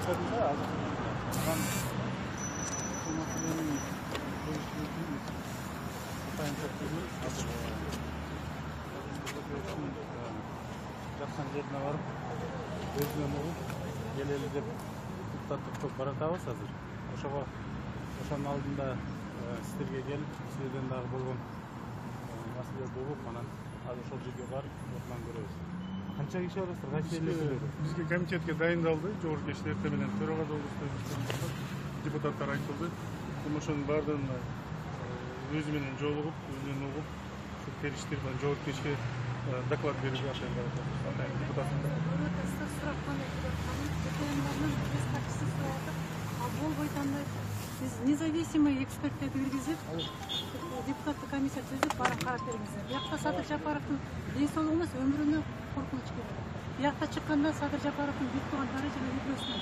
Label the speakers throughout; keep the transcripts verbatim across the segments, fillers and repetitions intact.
Speaker 1: маселеде азыр анан бул маселенин чечилишин атайын топтору азыр жаткан жерине барып өзүнөн угуп келели деп депутаттык топ баратабыз азыр. Ошого ошонун алдында сиздерге келип сиздерден дагы болгон маселелерди угуп анан азыр ошол жерге барып отурган көрөбүз. Канча киши барасыздар? Кайсы эле?
Speaker 2: Бизге комитетке дайындалды. Жогорку кечте эртең менен төрага долбусту депутаттар айтылды. Ошонун баардыгына өзү менен жолугуп, өзүнөн угуп, ушу териштер менен жогорку кечке доклад берүүгө атайын барат. Депутаттар.
Speaker 3: Сурак кандай депутаттардын биз катчысы сурап атат. А болбой кандай биз независимый эксперттерди киргизип, депутаттык комиссия түзүп барып карап бериңиздер. Биякта Садыр Жапаровдун ден соолугу эмес, өмүрүнө коркунуч келет. Биякта чыкканда Садыр Жапаровдун бүт турган дарежелер видеосун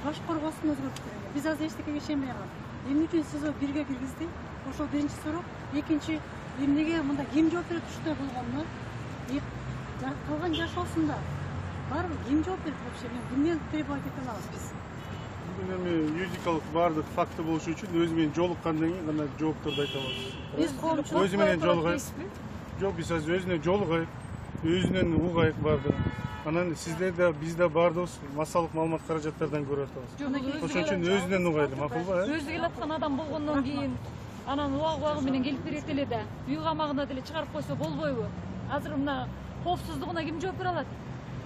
Speaker 3: баш коргоосун өзгөртүп берет. Биз азыр эчтекеге ишенбей калдык. Эмне үчүн сиз бирге киргизди? Ошол биринчи суроо. Экинчи, эмнеге мында ким жооп берет ушундай болгонуна? Калган жашоосунда барбы ким жооп берет вообще? Эмне требовать ете алабыз биз?
Speaker 2: Бүгүн эми юридикалык баардык факты болушу үчүн өзү менен жолуккандан кийин гана жоопторду айта алабыз.
Speaker 3: Биз коомчулук
Speaker 2: өзү менен жолугайбыз. Жок, биз азыр өзүнө жолугайбы, өзүнөн угайбы баардыгын. Анан сиздер да биз да баардыгыбыз массалык маалымат каражаттардан көрүп атабыз. Ошон үчүн өзүнөн угайлы, макулбу?
Speaker 4: Өзү келаткан адам болгондон кийин анан убак убагы менен келип берет эле да, үй камагына деле чыгарып койсо болбойбу? Азыр мына коопсуздугуна ким жооп бере алат?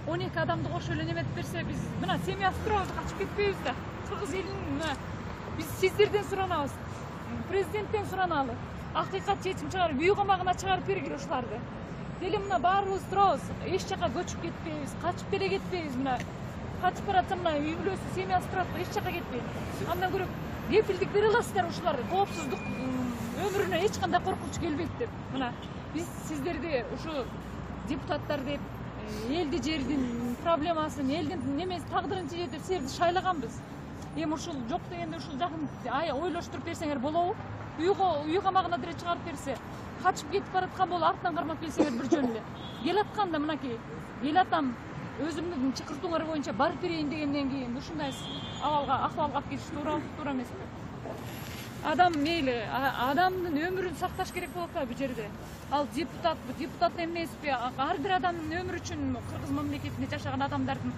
Speaker 4: он эки адамды кошо эле неметип берсе, биз мына семьясы турабыз, качып кетпейбиз да. Кыргыз элинин мына биз сиздерден суранабыз, президенттен сураналы. Акыйкат чечим чыгарып, үй камагына чыгарып бергиле ушуларды. Деле мына баарыбыз турабыз, эч жака көчүп кетпейбиз, качып деле кетпейбиз. Мына качып баратса мына үй бүлөсү, семьясы турат, эч жака кетпейт. Андан көрө кепилдик бере аласыздар ушуларды, коопсуздук өмүрүнө эч кандай коркунуч келбейт деп. Мына биз сиздерди ушу депутаттар деп элди жердин проблемасын, элдин немеси тагдырын чечет деп силерди шайлаганбыз. Эми ушул жок дегенде ушул жакын ойлоштуруп берсеңер болобу? Үй камагына деле чыгарып берсе, качып кетип бараткан болуп артынан кармап келсеңер бир жөн эле. Келатканда мынакей эл атам өзүмдүн чакыртууңар боюнча барып берейин дегенден кийин ушундай абалга акыбалга алып кетиш туура туура эмеспи? Адам мейли, адамдын өмүрүн сакташ керек болот да бул жерде. Ал депутат, депутат эмеспи? Ар бир адамдын өмүрү үчүн кыргыз мамлекетинде жашаган адамдардын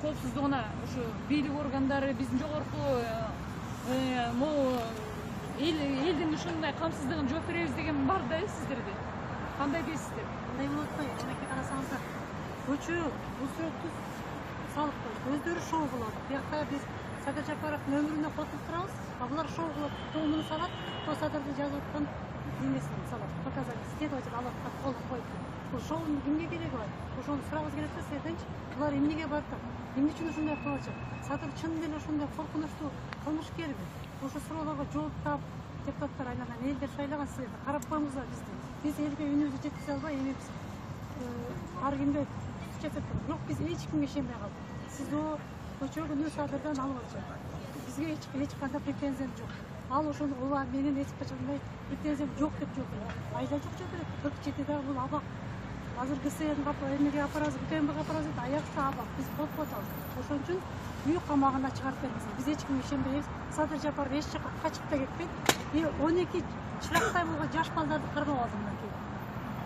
Speaker 4: коопсуздугуна ушу бийлик органдары, биздин жогорку могу элдин ушундай камсыздыгын жооп беребиз деген бар да сиздерде. Кандай дейсиздер?
Speaker 3: Мындай болот го, мынакей карасаңыздар, көчө бул сүрөттү салып коюп, өздөрү шоу кылат. Биякта биз Садыр Жапаровдун өмүрүнө коркуп турабыз, а булар шоу кылат, тоомуну салат, то Садырдын жазып аткан немесин салат, показания, следователь алып аткан кол коюп. Бул шоунун кимге кереги бар? Ошону сурабыз келет да сиздерденчи. Булар эмнеге барат? Эмне үчүн ушундай кылып атышат? Садыр чын деле ушундай коркунучтуу кылмышкерби? Ошо суроолорго жооп таап депутаттар айланан элдер шайлаган силерди. Карап коюңуздар бизди. Биз элге үнүбүздү жеткизе албай эмебиз ар кимге жасап турат. Жок, биз эч кимге ишенбей калдык. Сиз о көчөгүнү Садырдан алып атышат. Бизге эч эч кандай претензиям жок. Ал ошону ооба менин эч качандай претензиям жок деп жооп берет. Айда жок жооп берет. кырк жетиде бул абак. Азыр ГСМ эмнеге апарабыз, УКМБга апарабыз дейт, аякта абак. Биз коркуп атабыз. Ошон үчүн үй камагына чыгарып бериңиздер. Биз эч кимге ишенбейбиз. Садыр Жапаров эч жака качып да кетпейт. И он эки чырактай болгон жаш балдарды кармап алды мынакей.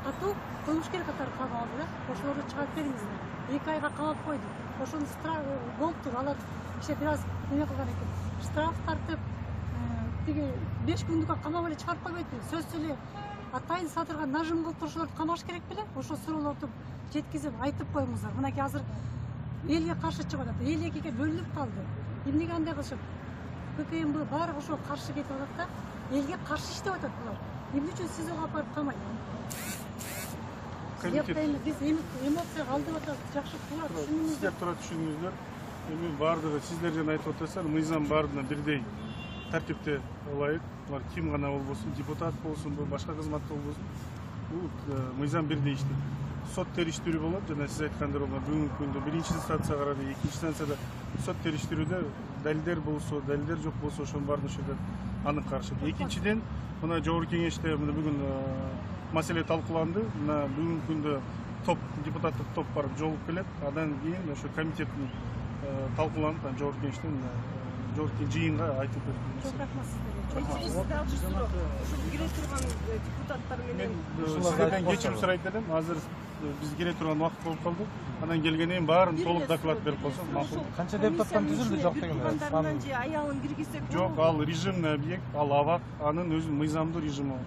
Speaker 3: Катуу кылмышкер катары кармап алды да. Ошолорду чыгарып бериңиздер. эки айга камап койду. Ошону штраф болуптур. Алар иште бир аз эме кылган экен. Штраф тартып, тиги беш күндүккө камап эле чыгарып койбойт. Сөзсүз эле атайын Садырга нажим кылып турушуларды камаш керек беле? Ошо суроолорду жеткизип айтып коюңуздар. Мынакей азыр элге каршы чыгып атат. Эл экиге бөлүнүп калды. Эмнеге андай кылышат? УКМБ баары ошо каршы кетип атат да, элге каршы иштеп атат булар. Эмне үчүн сиз ага барып камайт? Биз эмоцияга алдырып атабыз. Жакшы туура түшүнүңүздөр.
Speaker 2: Сиздер туура түшүнүңүздөр. Эми баардыгы сиздер жана айтып атасыздар, мыйзам баарына бирдей тартипте ылайык. Булар ким гана болбосун, депутат болсунбу, башка кызматта болбосун, бул мыйзам бирдей иштейт. Сот териштирүү болот, жана сиз айткандай бүгүнкү күндө биринчи инстанция карады, экинчи инстанцияда сот териштирүүдө далилдер болсо, далилдер жок болсо, ошонун баарын ошол жерде анык карашат. Экинчиден, мына жогорку кеңеште мына бүгүн маселе талкууланды. Мына бүгүнкү күндө топ депутаттык топ барып жолугуп келет. Андан кийин ошо комитеттин талкууланып анан жогорку кеңештен жогорку жыйынга айтып берди.
Speaker 3: Çok рахмат сиздерге.
Speaker 5: Сизде алчы суроо. Ушул кире турган депутаттар менен
Speaker 2: Сиздерден кечирим сурайт элем. Азыр биз кире турган убакыт болуп калды. Анан келгенден кийин баарын толук доклад берип койсоң макул.
Speaker 6: Канча депутаттан түзүлдү жок деген
Speaker 5: тугандарынан же аялын киргизсек
Speaker 2: Жок, ал режимный объект, ал абак, анын өзү мыйзамдуу режими.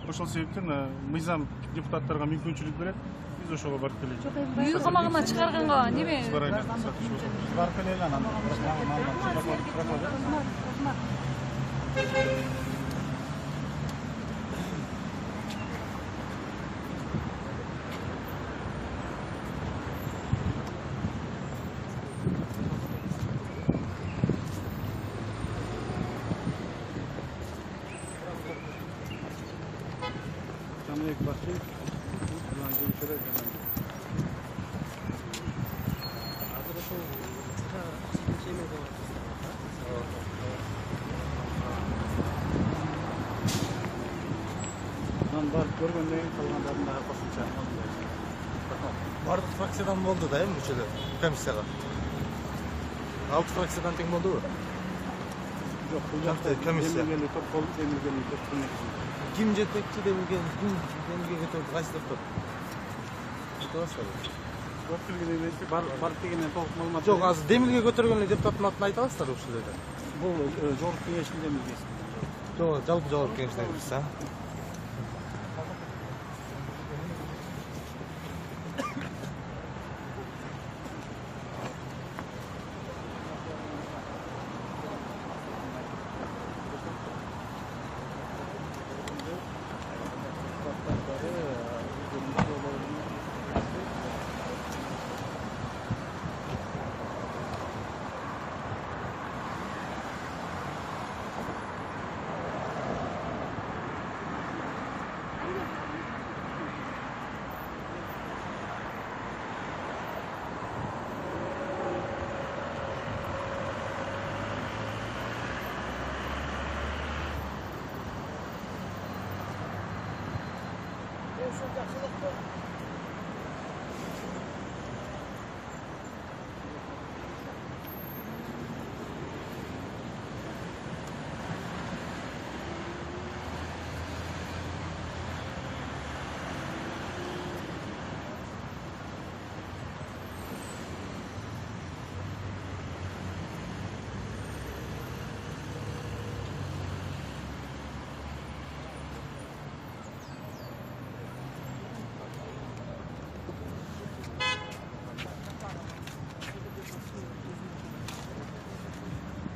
Speaker 2: Ошол себептен мыйзам депутаттарга мүмкүнчүлүк берет. Биз ошого барып келели.
Speaker 4: үй камагына чыгарганга неме
Speaker 1: Барып келели анан. Жаныбек Башиев, жана келишелер жана. Азыр ошол чечеме болот. Анан барып көргөндөн кийин калгандарын дагы кошумча.
Speaker 6: Бардык фракциядан болду да эми мүчөлөр комиссияга. алты фракциядан тең болдубу?
Speaker 1: Жок, бул жакта
Speaker 6: комиссия.
Speaker 1: эмилгени топ болуп, эмилгени топ көмөкчү.
Speaker 6: Ким жетекчи демилген, ким демилгенге топ кайсы топ? Айтып аласызбы?
Speaker 1: Топ келгенден кийин барып дегенден толук маалымат.
Speaker 6: Жок, азыр демилге көтөргөн эле депутаттын атын айта аласыздарбы ушул жерде?
Speaker 1: Бул жогорку кеңештин демилгеси.
Speaker 6: Жок, жалпы жогорку кеңештен кирсе.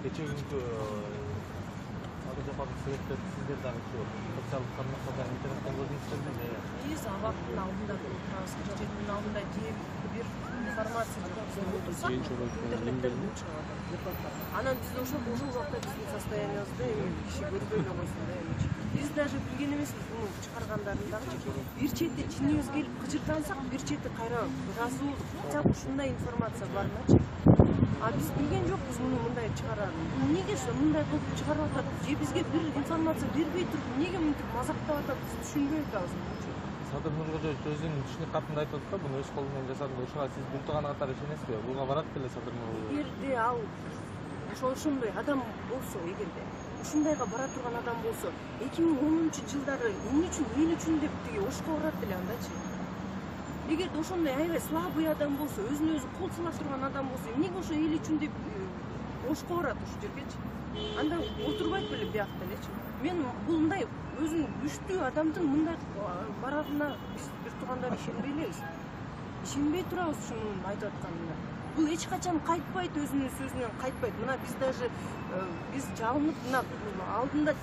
Speaker 6: Кече күнкү аты жападык сүрөттөрдү сиздер дагы социалдык тармактарда интернеттен көрдүңүздөрбү?
Speaker 5: биз абактын алдында туруп турабыз. Кеченин алдында кээ бир информация жүргүзүп отурсак, интернеттен чыгып атат. Анан биз ошол ошол убакта биздин состояниябызды эми киши көрбөй эле койсун да эми. Биз даже билген эмеспиз муну чыгаргандарын дагычы. Бир чети чинибиз келип кыжыртансак, бир чети кайра ыраазуу хотя бы ушундай информация бармачы. А биз билген жокпуз муну мындай чыгарарын. Эмнеге мындай кылып чыгарып атат? Же бизге бир информация бербей туруп, эмнеге мынтип мазактап атат? Биз түшүнбөй атабыз.
Speaker 6: Садыр Нуркожоевич өзүнүн түшүнүк катында айтып атат да, буну өз колу менен жасады. Ушуга сиз бул тууган катары ишенесизби? Буга барат беле Садыр Нуркожоевич?
Speaker 5: Эгерде ал ошол ошондой адам болсо, эгерде ушундайга бара турган адам болсо, эки миң онунчу жылдары эмне үчүн, эл үчүн деп тиги ошко барат эле андачы. Эгерде ошондой аябай слабый адам болсо, өзүнө өзү кол сала турган адам болсо, эмнеге ошо эл үчүн деп ошко барат ушул жергечи? Анда отурбайт беле биякта элечи. Мен бул мындай өзүнүн күчтүү адамдын мындай барарына биз бир туугандар ишенбей элебиз. Ишенбей турабыз ушунун айтып атканына. Бул эч качан кайтпайт, өзүнүн сөзүнөн кайтпайт. Мына биз даже биз жалынып мына алдында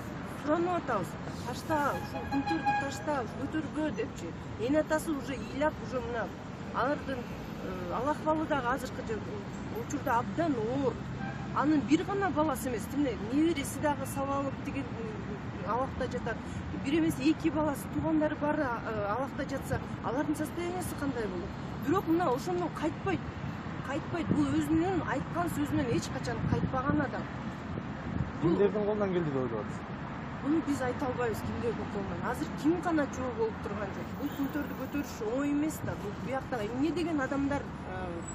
Speaker 5: суранып атабыз. Ташта, ушул күнтөрдү ташта, көтөргө депчи. Эне атасы уже ыйлап, уже мына алардын ал акыбалы дагы азыркы учурда абдан оор. Анын бир гана баласы эмес, тимне небереси дагы сабалып деген абакта жатат. Бир эмес эки баласы, туугандары баары абакта жатса, алардын состояниясы кандай болот? Бирок мына ошондон кайтпайт. Кайтпайт. Бул өзүнүн айткан сөзүнөн эч качан кайтпаган адам.
Speaker 6: Кимдердин колунан келди деп ойлоп атасыз?
Speaker 5: Буну биз айта албайбыз кимде болмон. Азыр ким гана жоо болуп турган жок. Бул пултөрдү көтөрүш оңой эмес да. Бул биякта эмне деген адамдар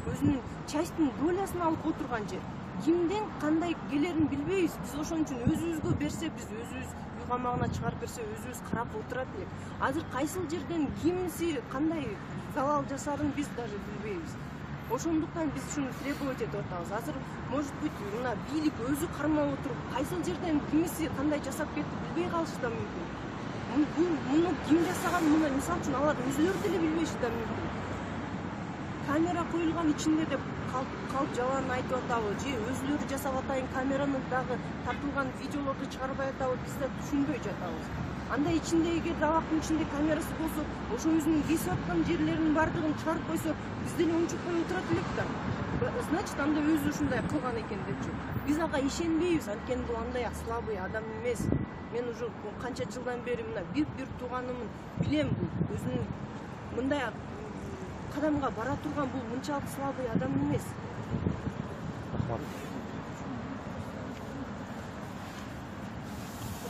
Speaker 5: өзүнүн частын долясын алып отурган жер. Кимден кандай келерин билбейбиз. Биз ошон үчүн өзүбүзгө берсе, биз өзүбүз үй камагына чыгарып берсе, өзүбүз карап отурат элек. Азыр кайсыл жерден кимси кандай залал жасарын биз даже билбейбиз. Ошондуктан биз ушуну требовать этип атабыз. Азыр может быть мына бийлик өзү кармап отуруп, кайсыл жерден кимиси кандай жасап кетти билбей калышы да мүмкүн. Муну ким жасаган, муну мисалы үчүн алар өзүлөрү деле билбеши да мүмкүн. Камера коюлган ичинде деп калп жалаан айтып атабы, же өзүлөрү жасап атайын камераны дагы тартылган видеолорду чыгарбай атабы, биз да түшүнбөй жатабыз. Анда ичинде эгер абактын ичинде камерасы болсо, ошо өзүнүн кесип аткан жерлеринин баардыгын чыгарып койсо, биз деле унчукпай отурат элек да. Значит, анда өзү ушундай кылган экен депчи. Биз ага ишенбейбиз, анткени бул андай слабый адам эмес. Мен уже канча жылдан бери мына бир-бир тууганымын, билем бул өзүнүн мындай кадамга бара турган бул мынчалык слабый адам эмес.
Speaker 6: Рахмат.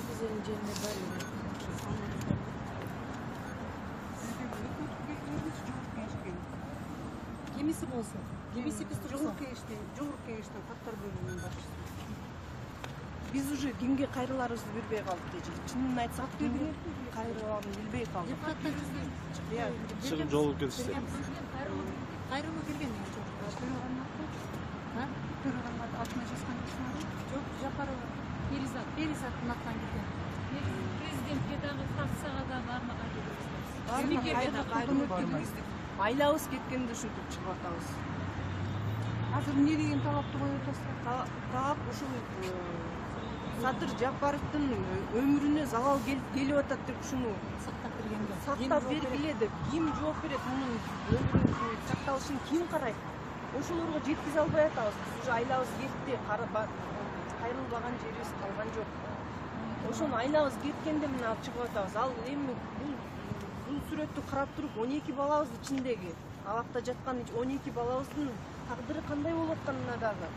Speaker 5: Bizlerin cennet var.
Speaker 3: Кимиси болсун, кимиси биз турсун.
Speaker 5: Жогорку кеңештин, жогорку кеңештин каттар бөлүмүнүн башчысы. Биз уже кимге кайрыларыбызды билбей калдык эже. Чынын айтсак, кимге кайрыларын билбей калдык.
Speaker 6: Чыгым жолу келишти.
Speaker 3: Кайрылуу келген эмне жок. Төрөган Төрөган алтына жазган киши жок, Жапарова Элизат, Элизаттын атынан келген.
Speaker 4: Президентке дагы фракцияга да бармаган
Speaker 5: кайрылуу айлабыз кеткенди ушинтип чыгып атабыз.
Speaker 3: Азыр эмне деген талапты коюп атасыздар?
Speaker 5: Талап ушул Садыр Жапаровдун өмүрүнө залал келип атат деп ушуну
Speaker 3: сактап бергенде.
Speaker 5: Сактап бергиле деп ким жооп берет, мунун өмүрүнүн сакталышын ким карайт? Ошолорго жеткизе албай атабыз. Биз уже айлабыз кетти, кайрылбаган жерибиз калган жок. Ошону айлабыз кеткенде мына чыгып атабыз. Ал эми бул бул сүрөттү карап туруп он эки балабыз ичиндеги абакта жаткан он эки балабыздын тагдыры кандай болуп атканына дагы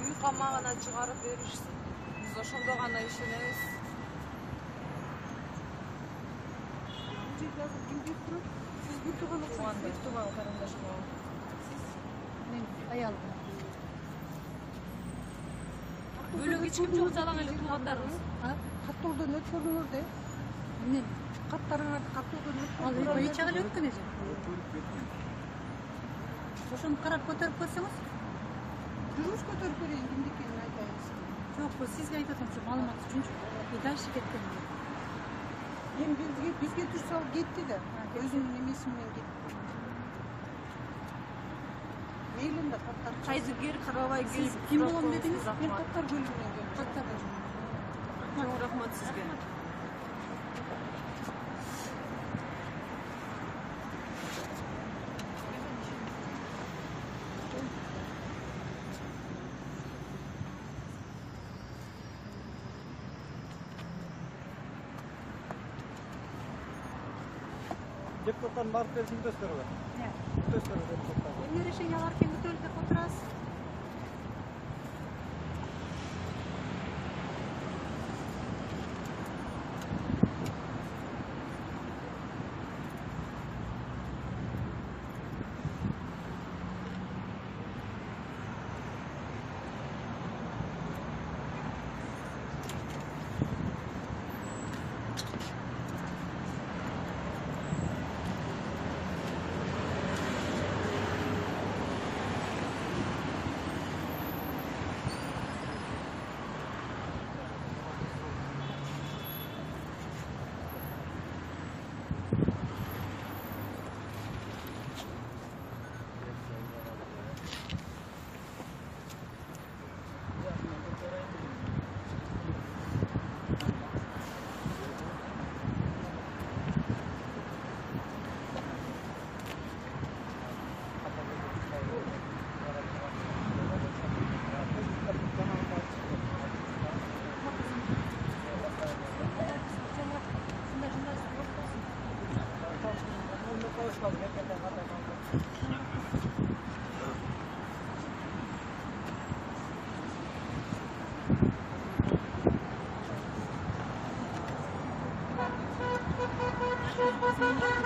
Speaker 5: үй камагына чыгарып беришсин. Биз ошондо гана ишенебиз. Бул жерде азыр ким келип турат? Сиз бир тууган окшойсуз, бир тууган карындаш болот.
Speaker 3: Мен аялым.
Speaker 4: Бөлөк эч ким жок, жалаң эле туугандарыбыз.
Speaker 3: Каттоодон өткөрдүңөр да. Эмне? Каттарыңарды каттоодон өткөрдүңөр. Ал эч агы өткөн эже. Ошону карап көтөрүп көрсөңүз? Жүрүш көтөрүп берейин, кимди экенин айтайыныз. Жок, сизге айтып атам, маалымат үчүнчү. И дальше кеткен. Эми бизге бизге турса кетти да. Өзүнүн эмеси менен кетти. Мейлин да каттар.
Speaker 5: Кайдыгер карабай келип
Speaker 3: ким болом дедиңиз? Мен каттар бөлүмүнөн келдим. Каттар
Speaker 5: Чоң рахмат сизге.
Speaker 7: Депутаттар барып берсин төстөргө.
Speaker 3: Иә.
Speaker 7: Төстөргө депутаттар.
Speaker 3: Эмне решениялар кем өтөлүп деп отурасыз? ушундай